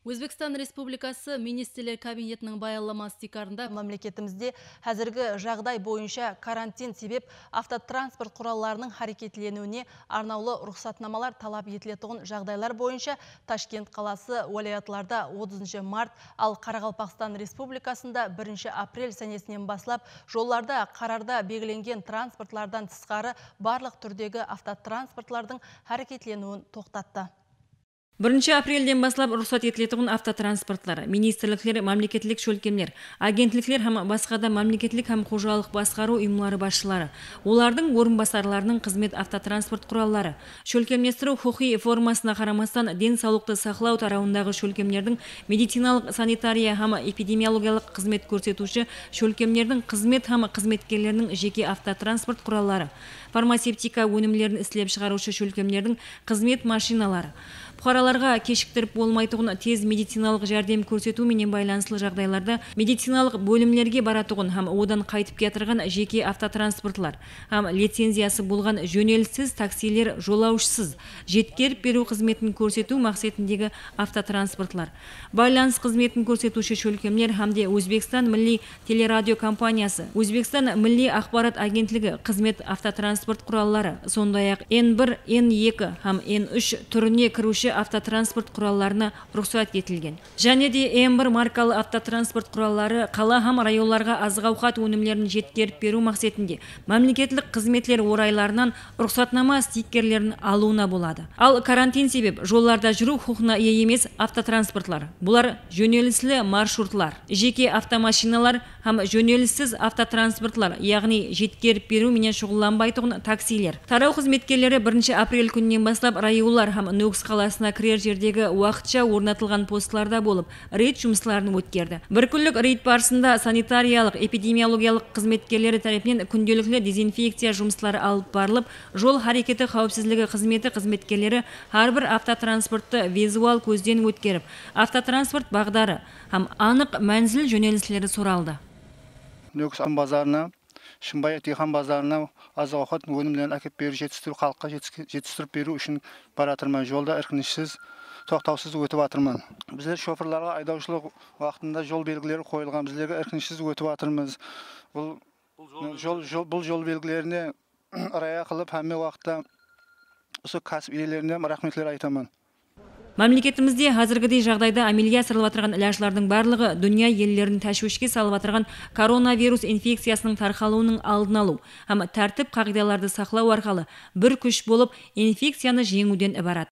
Өзбекстан Республикасы Министрлер Кабинетінің баяламасы тикарында мемлекетімізде әзіргі жағдай бойынша карантин себеп автотранспорт құралларының харекетленуіне арнаулы рұқсатнамалар талап етілетұғын жағдайлар бойынша Ташкент қаласы уалаятларда 30 март, ал Қарақалпақстан Республикасында 1 апрель сәнесінен басылап, жолларда қарарда белгіленген транспортлардан тысқары барлық түрдегі автотранспортлардың харекетленуін тоқтатты. 1 апрельден баслап рұқсат етілетұғын автотранспортлар, министрліктер, мемлекеттік шөлкемлер, агентліктер һәм басқа да мемлекеттік һәм қожалық басқару ұйымлары басшылары, олардың орынбасарларының қызмет автотранспорт құраллары, шөлкемлестіру құқи формасына қарамастан денсаулықты сақлау тарауындағы шөлкемлердің медициналық санитария һәм эпидемиологиялық қызмет көрсетуші шөлкемлердің қызмет һәм қызметкерлерінің жеке автотранспорт құраллары, фармацевтика өнімлерін істелеп шығарушы шөлкемлердің қызмет машиналары, бұқараларға кешіктіріп болмайтұғын тез медициналық жәрдем көрсету менен байланысылы жағдайларда медициналық бөлімлерге баратұғын һәм одан қайтып кетірген жеке автотранспортлар, һәм лицензиясы болған жөнеліссіз таксилер жолаушысыз жеткеріп беру қызметін көрсету мақсатындегі автотранспортлар, байланыс қызметін көрсетуші шөлкемлер һәмде Өзбекстан Милли телерадио компаниясы, Өзбекстан Милли ақпарат агентлігі қызмет автотранспорт құраллары, сондай-ақ N1, N2 һәм N3 түріне кіруші автотранспорт құралларына рұқсат етілген. Және де N1 маркалы автотранспорт құраллары қала һәм районларға азық-ауқат өнімдерін жеткеріп беру мақсатында мемлекеттік қызметлер орайларынан рұқсатнама стикерлерін алуына болады. Ал карантин себеп жолларда жүру құқығына ие емес автотранспортлар. Бұлар жөнеліслі маршрутлар, жеке автомашиналар һәм жөнеліссіз автотранспортлар, яғни жеткеріп беру менен шұғылданбайтұғын таксилер. Тарау қызметкерлері 1 апрель күнінен бастап районлар һәм Нөкс қаласына кірер жердегі уақытша орнатылған постларда болып, рейд жұмысларын өткерді. Бір күнлік рейд барысында санитариялық, эпидемиологиялық қызметкерлері тарапынан күнделікті дезинфекция жұмыслары алып барылып, жол харекеті қауіпсіздігі қызметі қызметкерлері әрбір автотранспортты визуал көзден өткеріп, автотранспорт бағдары һәм анық мәнзіл жөнеліслері сұралды. Нөкс базарына, Шымбай Тихан базарына азық-ауқат өнімдерін әкеп беру, халыққа жетістіріп беру үшін баратырмын. Жолда іркінішсіз, тоқтаусыз өтіп атырмын. Біздер шоферларға айдаушылық уақытында жол белгілері қойылған, біздерге іркінішсіз өтіп атырмыз. Бұл жол белгілеріне рая қылып, әмме уақытта осы кәсіп иелеріне рахметлер айтамын. Мемлекетімізде қазіргідей жағдайда амелия асырылып отырған іләшілердің барлығы дүния елдерін тәшвишке салып отырған коронавирус инфекциясының тарқалуының алдын алу һәм тәртіп қағидаларды сақлау арқылы бір күш болып инфекцияны жеңуден ібарат.